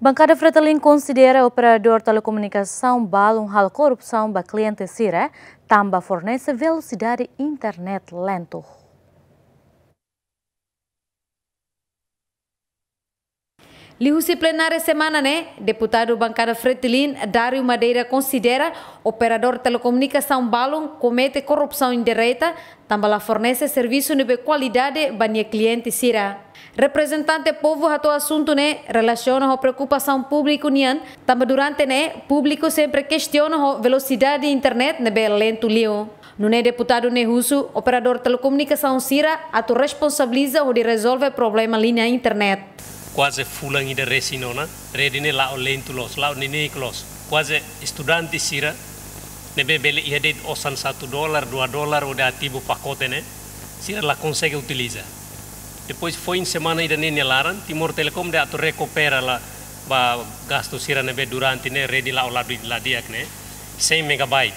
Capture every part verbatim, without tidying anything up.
Bankada Fretilin konsidera operadór telekomunikasaun balun halo korrupsaun ba kliente sira, tanba fornese velosidade internet lentu. Liuhusi plenária semana ne'e, deputadu bankada Fretilin, Dário Madeira, konsidera operadór telekomunikasaun balun komete korrupsaun indireta, tanba la fornese servisu ne'ebé kualidade ba nia kliente sira. Reprezentante povu hato'o asuntu ne'e relasiona ho preokupasaun públiku nian, tanba durante ne'e públiku sempre kestiona ho velosidade internet ne'ebé lentu liu. Nune'e deputadu ne'e husu operadór telekomunikasaun sira atu responsabiliza hodi rezolve problema liña internet. Kuaze fulan ida resin ona, rede ne'e la'o lentu loos, la'o neineik loos. Kuaze estudante sira ne'ebé bele iha de'it osan satu dolar, dua dolar hodi ativu pakote ne'e, sira la konsege utiliza. Depois foin semana ida-ne'e nia laran, Timor Telecom dehan atu rekupera la ba gastu sira ne'ebé durante ne'e rede la'o la di-, la di'ak ne'e, cem megabyte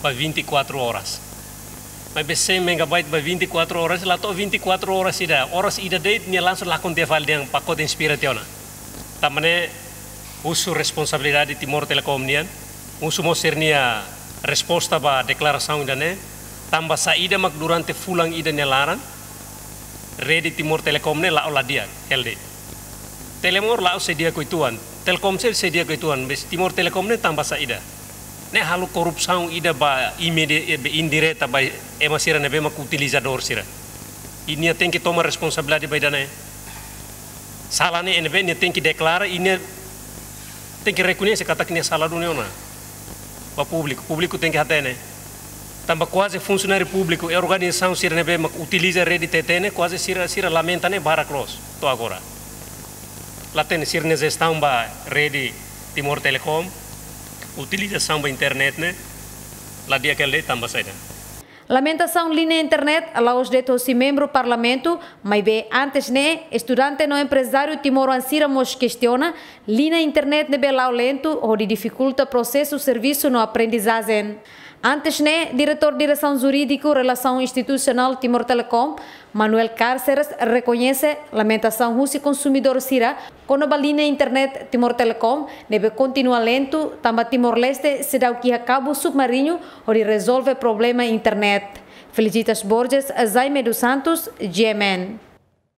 ba vinte e quatro horas. Maibé cem megabyte ba vinte e quatro horas, la to'o vinte e quatro horas ida, horas ida de'it nia langsung lakon tiha fali dehan pakote inspira tiha ona. Tanba ne'e husu responsabilidade Timor Telecom nian, husu mós sira-nia resposta ba deklarasaun ida-ne'e, tanba saida mak durante fulan ida nia laran, rede Timor Telecom ne'e la'o la di'ak hela de'it. Telemor la'o sei di'ak uitoan, Telkomcel sei di'ak uitoan, maibé Timor Telecom ne'e tanba saida? Ne'e halo korrupsaun ida ba imedi-, eh, indireta ba ema sira ne'ebé mak utilizadór sira. I nia tenke toma responsabilidade ba ida-ne'e. Sala ne'e ne'ebé nia tenke deklara, i nia tenke rekoñese katak nia sala duni ona. Ba públiku, públiku tenke hatene. Tanba kuaze funsionáriu públiku, i organizasaun sira ne'ebé mak utiliza rede T T ne'e, kuaze sira, sira lamenta ne'e barak loos to'o agora. La hatene sira-nia jestaun ba rede Timor Telecom, utilizasaun ba internet ne'e la di'ak hela de'it tanba saida? Lamentasaun liña internet la'ós de'it hosi membru parlamentu, maibé antes ne'e, estudante no emprezáriu timoroan sira mós kestiona liña internet ne'ebé la'o lentu hodi difikulta prosesu servisu no aprendizajen. Antes ne'e, Diretór Diresaun Jurídiku Relasaun Institusionál Timor Telecom, Manuel Cárceres, rekoñese lamentasaun husi konsumidór sira kona-ba liña internet Timor Telecom ne'ebé kontinua lentu, tanba Timor-Leste seidauk iha kabu submariñu hodi rezolve problema internet. Felicitas Borges, Jaime dos Santos, G M N.